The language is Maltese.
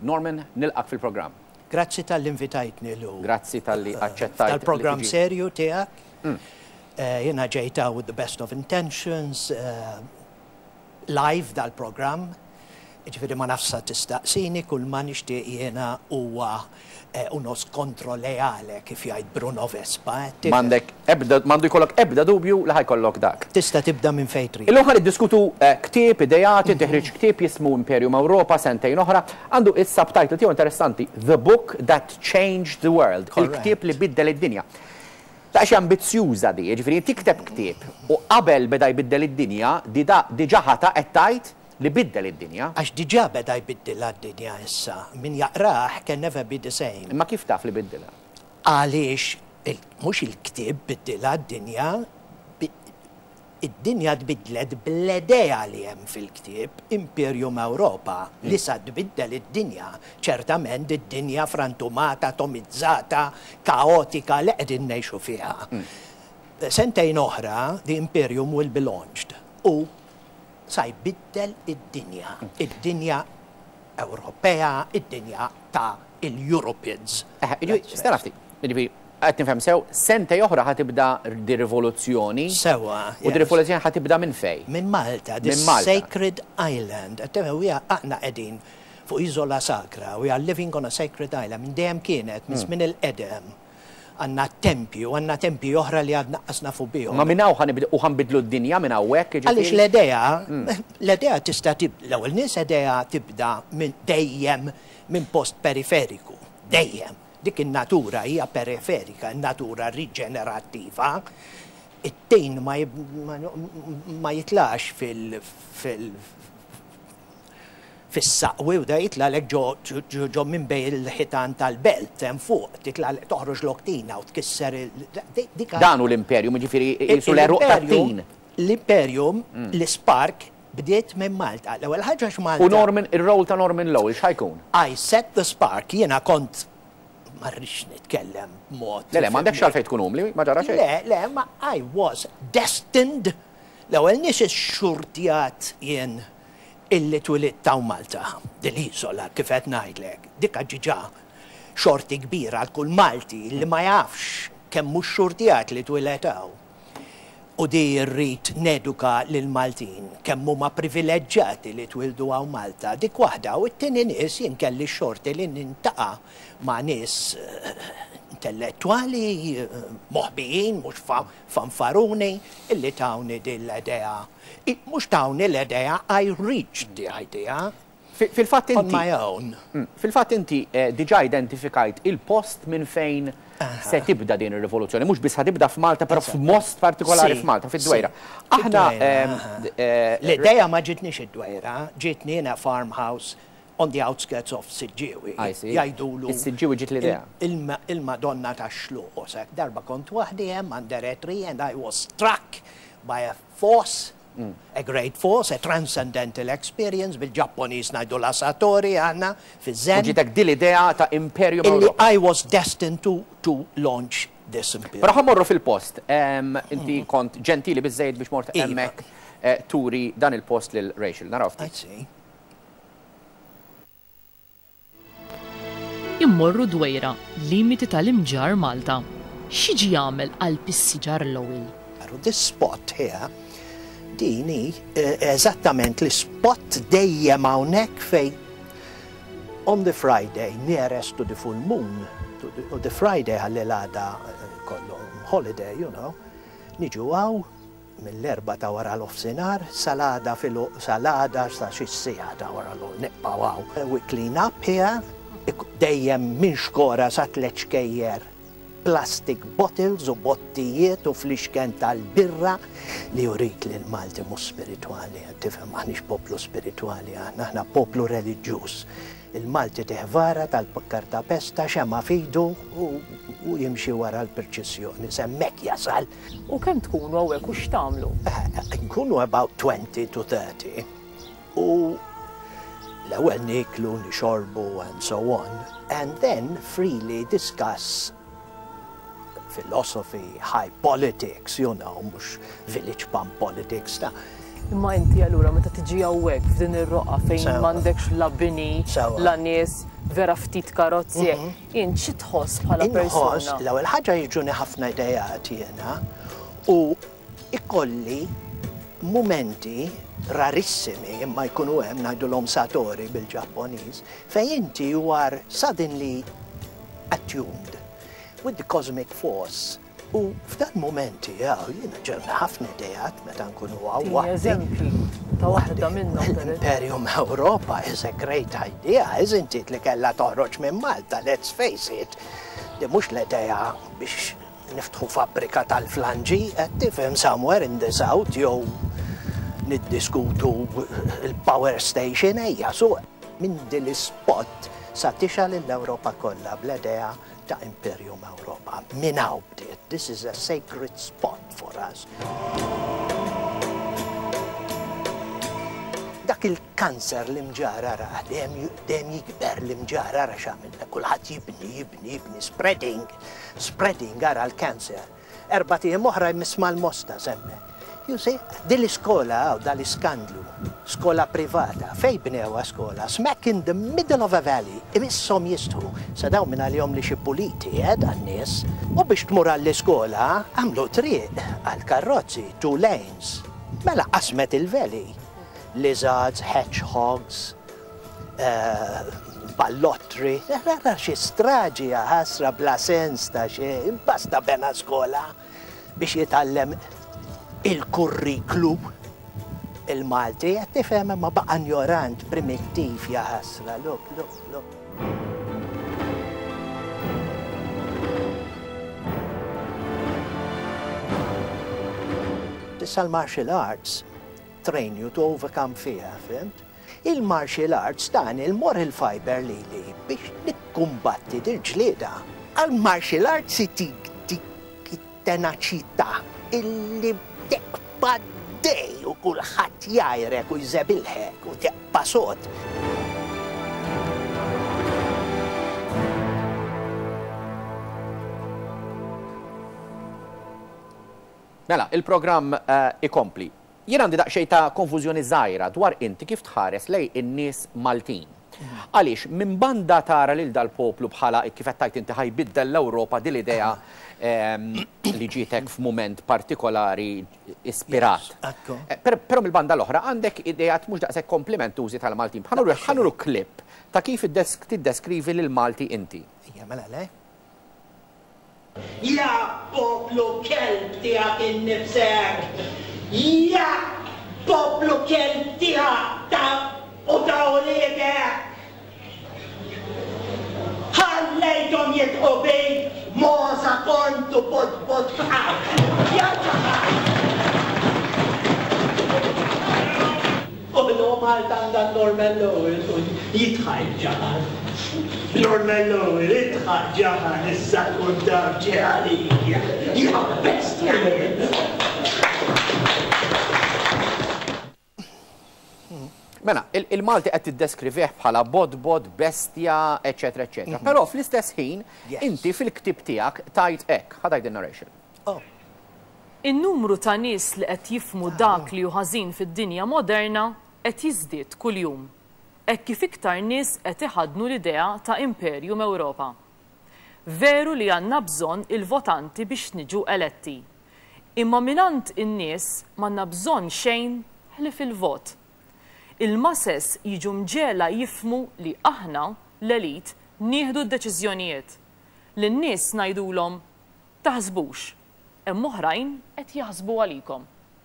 Norman, nilqgħek fil-programm. Grazzi talli invitajtni Lou. Grazzi talli aċċettajt. Tal-programm serju tiegħek. Jiena ġejt hawn with the best of intentions, live dal-programm. Jiġifieri ma nafx sa tistaqsini, kull ma nixtieq jiena huwa uno scontro leale kif jgħid Bruno Vespa. M'għandek ebda, m'għandu jkollok ebda dubju li ħa jkollok dak. Tista' tibda minn fejn trid. Illum ħa niddiskutu ktieb, ideat, inti ħriġt ktieb jismu Imperium Europa sentejn oħra. Għandu is-subtitle tiegħu interessanti, The Book That Changed the World, il-ktieb li biddel id-dinja. Daqsxejn ambizzjuża di, jiġifieri tikteb ktieb u qabel beda jbiddel id-dinja, diġà ħata qed tgħid li biddel id-dinja. Għax diġà beda jbiddilha d-dinja issa. Min jaqrah can never be the same. Imma kif taf li biddilha? Għaliex mhux il-ktieb biddilha d-dinja, id-dinja tbiddlet bl-idea li hemm fil-ktieb, Imperium Europa, li sa tbiddel id-dinja. Ċertament id-dinja frantumata, atomizzata, kaotika li qegħdin ngħixu fiha. Sentejn oħra, the Imperium will be launched. U sa jbiddel id-dinja, id-dinja Ewropea, id-dinja ta' il-Europeans. Stenna ftit, jiġifieri qed nifhem sew, sentejn oħra ħa tibda di rivoluzzjoni. Sewwa. U di rivoluzzjoni ħa tibda minn fejn? Minn Malta, this sacred island. Aħna qegħdin fuq iżola sagra, we are living on a sacred island, minn dejjem kienet, minn żmien il-qedem. Għandna t-tempji u għandna tempji oħra li għadna qas nafu bihom. Ma minn hawn ħa nibdew u ħa nbiddlu d-dinja minn hawnhekk, jiġifieri? Għaliex l-idea, l-idea tista' tib, l-ewwel nies idea tibda minn dejjem minn post periferiku, dejjem. Dik in-natura hija periferika, in-natura riġenerattiva. It-tin ma ma jitlax fil fil fis-saqwi u da jitlagħlek ġo ġo minn bejn il-ħitan tal-belt hemm fuq, titlagħlek toħroġlok tina u tkisser il dik Dan hu l-imperium, jiġifieri qisu l-għeruq tat-tin. L-imperium, l-ispark bdiet minn Malta. L-ewwel ħaġa għax Malta. U Norman, ir-role ta' Norman Lowell x'ħa jkun? I set the spark, jiena kont ma rridx nitkellem b'mod. Le, le, m'għandekx għalfejn tkun umli, ma ġara xejn. Le, le, ma I was destined, l-ewwel nies ixxurtjat jien illi twilidt hawn Malta, din l-iżola kif qed ngħidlek, dik diġà xorti kbira għal kull Malti li ma jafx kemm hu xxurtjat li twieled hawn. U di rrid neduka lill-Maltin kemm huma privileġġjati li twieldu hawn Malta. Dik waħda. U t-tieni nies jien kelli x-xorti li nintaqa' ma' nies intellettwali, moħbijin, mhux fanfaruni, illi tawni din l-idea Mhux tawni l-idea, I reached the idea. Fil-fatt inti. On my own. Fil-fatt inti diġà identifikajt il-post minn fejn se tibda din ir-rivoluzzjoni. Mhux biss ħa tibda f'Malta, però f'most partikolari f'Malta, fid-Dwejra. Aħna. L-idea ma ġietnix id-Dwejra, ġietni in a farmhouse on the outskirts of Siġġiewi. Jgħidulu. Is-Siġġiewi ġiet l-idea. Il-Madonna tax-Xluq. Darba kont waħdi hemm under a tree and I was struck by a force, a great force, a transcendental experience, bil-Ġappuniż ngħidulha satori aħna, fiż-Zen. U ġietek din l-idea ta' Imperium Ewropa. Illi I was destined to to launch this imperium. Però ħa mmorru fil-post. Inti kont ġentili biżżejjed biex mort hemmhekk turi dan il-post lil Rachel. Naraw ftit. I see. Immorru Dwejra, limiti tal-Imġarr Malta. X'jiġi jagħmel qalb is-siġar Lowell? This spot here, din hi eżattament l-ispot dejjem hawnhekk fejn on the Friday nearest to the full moon, to the, the Friday ħalli l-għada kollhom holiday, you know, niġu hawn Mill-erbgħa ta' waranofsinhar sal-għada filgħo sal-għada sa xi siegħa ta' wara l nibqgħu hawn. We clean up here, dejjem minn xkora sa tlett xkejjer plastic bottles u bottijiet u flixken tal-birra li jurik li l-Malti mhux spiritwali, qed tifhem, m'aħniex poplu spiritwali aħna, aħna poplu reliġjuż. Il-Malti tih vara tal-kartapesta, xemgħa f'idu u jimxi wara l-pirċissjoni, s'hemmhekk jasal. U kemm tkunu hawnhekk u x'tagħmlu? Nkunu about 20 to 30 u l-ewwel nieklu, nixorbu and so on and then freely discuss philosophy, high politics, you know, mhux village pump politics ta'. Imma inti allura meta tiġi hawnhekk f'din ir-roqgħa fejn m'għandekx la bini, la nies, vera ftit karozzi. Int xi tħoss bħala persuna? Inħoss, l-ewwel ħaġa jiġuni ħafna ideat jiena u ikolli mumenti rarissimi imma jkunu hemm ngħidulhom satori bil-Ġapponiż fejn inti you are suddenly attuned with the cosmic force U f'dan mumenti hawn jiena ġewni ħafna ideat meta nkunu hawn waħdi. Eżempji ta' waħda minnhom. L-Imperium Europa is a great idea, isn't it, li kellha toħroġ minn Malta, let's face it. Di mhux l-idea biex niftħu fabbrika tal-flanġi, qed tifhem somewhere in the south jew niddiskutu il-power station ejja su minn din l-ispot sa tixgħal l-Ewropa kollha bl-idea ta' Imperium Ewropa. Minn hawn bdiet. This is a sacred spot for us. Dak il-kanser l-Imġarr ara, dejjem dejjem jikber l-Imġarr ara x'għamilna, kulħadd jibni, jibni, jibni, spreading, spreading ara l-cancer. Erbat ijiem oħra jmiss mal-Mosta s'hemmhekk. You see, din l-iskola hawn, dal-iskandlu, skola privata, fejn bnewha skola? Smack in the middle of a valley, imisshom jistħu. Sa dawn mingħalihom li xi puliti, eh, dan-nies. U biex tmur għall-iskola, għamlu triq għall-karrozzi, two lanes. Mela qasmet il-valley. Lizards, hedgehogs, ballottri, ara xi straġi ħasra bla sens ta' xejn, basta bena skola biex jitgħallem il-kurriklu il-Malti, qed tifhem imma baqa' injorant, primittiv ja ħasra, look, look, look. Issa l-martial arts train you to overcome fear, fhimt? Il-martial arts tani l-moral fiber lili biex nikkumbatti dil-ġlieda. Għall-martial arts itik dik it-tenaċità illi tibqa' għaddej u kulħadd jgħajrek u jżebilħek u tibqa' sod. Mela, il-programm ikompli. Jien għandi daqsxejn ta' konfużjoni żgħira dwar inti kif tħares lejn in-nies Maltin. Għaliex minn banda tara lil dal-poplu bħala, kif qed tgħid inti ħa jbiddel l-Ewropa din l-idea li ġietek f'mument partikolari ispirat. Però mill-banda l-oħra għandek ideat mhux daqshekk komplimentużi tal-Maltin. Ħa nuruk clip ta' kif tiddeskrivi lill-Malti inti. Ejja mela le. Ja poplu kelb tiegħek innifsek! Ja poplu kelb tiegħek ta' u ta' uliedek! Ħallejthom jidħqu bik, mogħża kont u budbud bqajt! Ja ġaħan! U llum Malta għandha l-Norman Lowell u jidħaq il-ġaħan. Norman Lowell, idħaq ġaħan issa tkun taf ġie għalik, ja bestja int! Mela, il-Malti qed tiddeskrivih bħala bodbod, bestja, eċċetera, eċċetera. Però fl-istess ħin, inti fil-ktieb tiegħek tgħid hekk, ħa tgħid in-narration. Oh. In-numru ta' nies li qed jifhmu dak li hu ħażin fid-dinja moderna qed jiżdied kuljum, hekk kif iktar nies qed iħaddnu l-idea ta' Imperium Ewropa. Veru li għandna bżonn il-votanti biex niġu eletti. Imma mingħand in-nies m'għandna bżonn xejn ħlief il-vot. Il-masses jiġu mġegħla jifhmu li aħna, l-elite, nieħdu d-deċiżjonijiet. Lin-nies ngħidulhom, Taħsbux. Hemm oħrajn qed jaħsbu għalikom.